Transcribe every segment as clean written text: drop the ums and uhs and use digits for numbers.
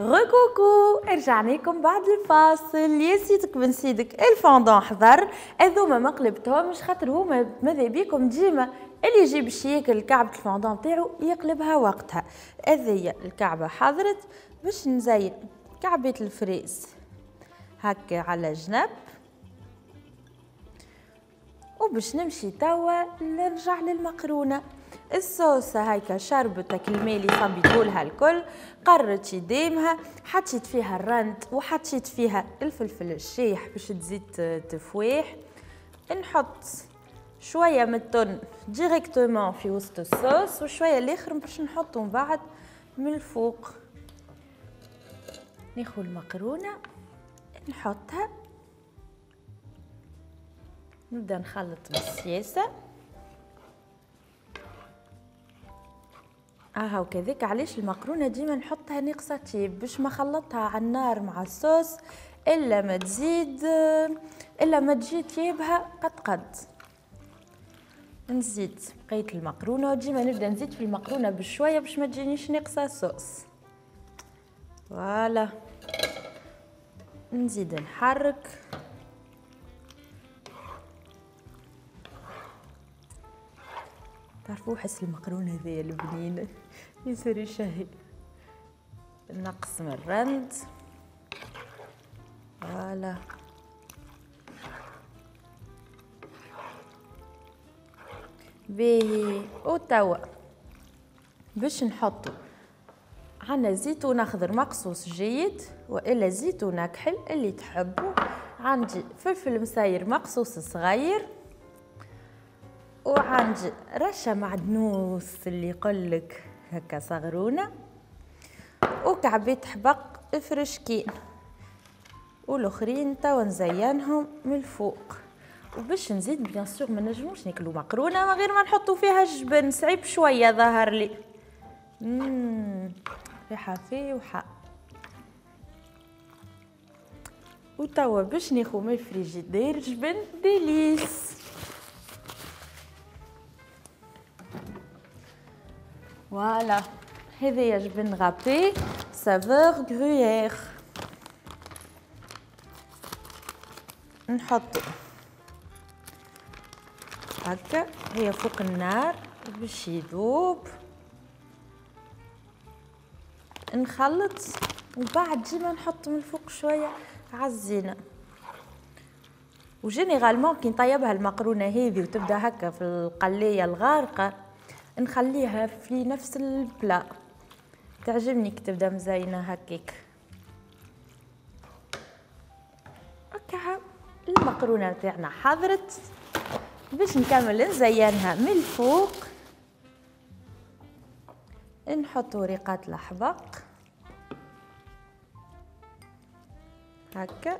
Recoucou، رجعنا لكم بعد الفاصل. يا سيدك بن سيدك، الفوندون حضر. هذوما ما قلبتهمش خاطر هما ماذا بيكم ديما اللي يجي باش ياكل كعبة الفوندون تاعو يقلبها وقتها. هذيا الكعبة حضرت، باش نزين كعبة ال fraise هكا على جنب، وباش نمشي توا نرجع للمقرونة. الصوص هايكا شربتك الماء اللي صبيتولها الكل، قررت يديمها، حطيت فيها الرند وحطيت فيها الفلفل الشيح باش تزيد تفويح. نحط شوية من التن directement في وسط الصوص، وشوية الاخر باش نحطو من بعد من الفوق. ناخذ المقرونه نحطها، نبدا نخلط بالسياسة. وكذاك علاش المقرونه ديما نحطها ناقصه طيب، باش ما خلطها على النار مع الصوص الا ما تزيد، الا ما تجي طيبها قد قد. نزيد بقية المقرونه، وديما نبدا نزيد في المقرونه بشوية باش ما تجينيش ناقصه صوص. voilà نزيد نحرك. تعرفوا حس المقرونه هذيا البنينه يصير يشهي. نقص من الرند. voilà باهي. وتوا باش نحطو عندنا زيتون اخضر مقصوص جيد والا زيتون اكحل اللي تحبوا. عندي فلفل مساير مقصوص صغير، وعندي رشه معدنوس اللي يقولك هكا صغرونه، وكعبات حبق فرشكين، والاخرين توا نزينهم من الفوق. وباش نزيد bien sûr ما نجموش ناكلو مقرونة من غير ما نحطو فيها الجبن، صعيب شوية ظهر لي. ريحه فايحه. وتوا باش ناخو من الفريجيدير جبن Délice. voilà هذايا جبن râpé saveur gruyère. نحط هكا هي فوق النار باش يذوب. نخلط وبعد ديما نحط من الفوق شوية عالزينه. و généralement كي نطيبها المقرونه هذه وتبدا هكا في القليه الغارقة نخليها في نفس ال plat، تعجبني كي تبدا مزينة هكاك. هكا المقرونه تاعنا حضرت. باش نكمل نزينها من الفوق نحط وريقات الحبق هكا،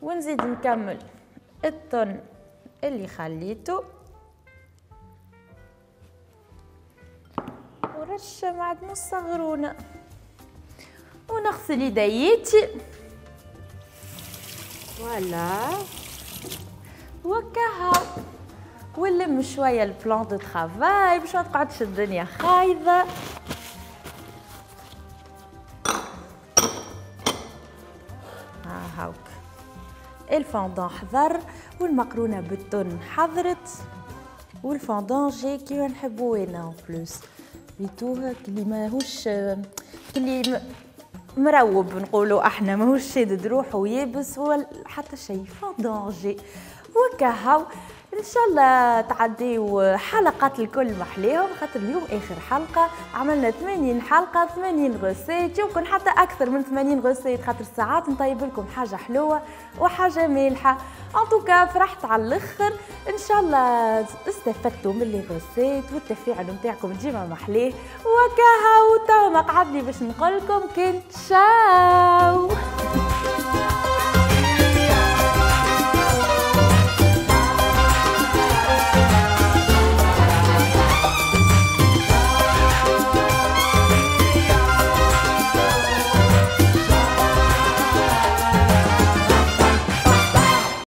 ونزيد نكمل الطن اللي خليته، ورشه معدنوس صغرونه، ونغسل يديتي. voilà وكها. ونلم شوية ال plan de travail باش ما تقعدش الدنيا خايضه. هاوك الفوندون حضر، والمقرونه بالتن حضرت، والفوندون جاي كيما نحبو انا. en plus ريتوه كلي ماهوش كلي مروب نقولوا احنا، ماهوش شادد روحه ويابس ولا حتى شيء، فوندون جاي وكهو. ان شاء الله تعديو حلقات الكل محليهم، خاطر اليوم اخر حلقة، عملنا 80 حلقة 80 recettes، يمكن حتى اكثر من 80 recettes، خاطر ساعات نطيب لكم حاجة حلوة وحاجه مالحة. en tout cas فرحت على الاخر، ان شاء الله استفدتوا من les recettes والتفاعل نتاعكم ديما محليه. وكهو توا ما قعدلي باش نقول لكم كنت تشاو.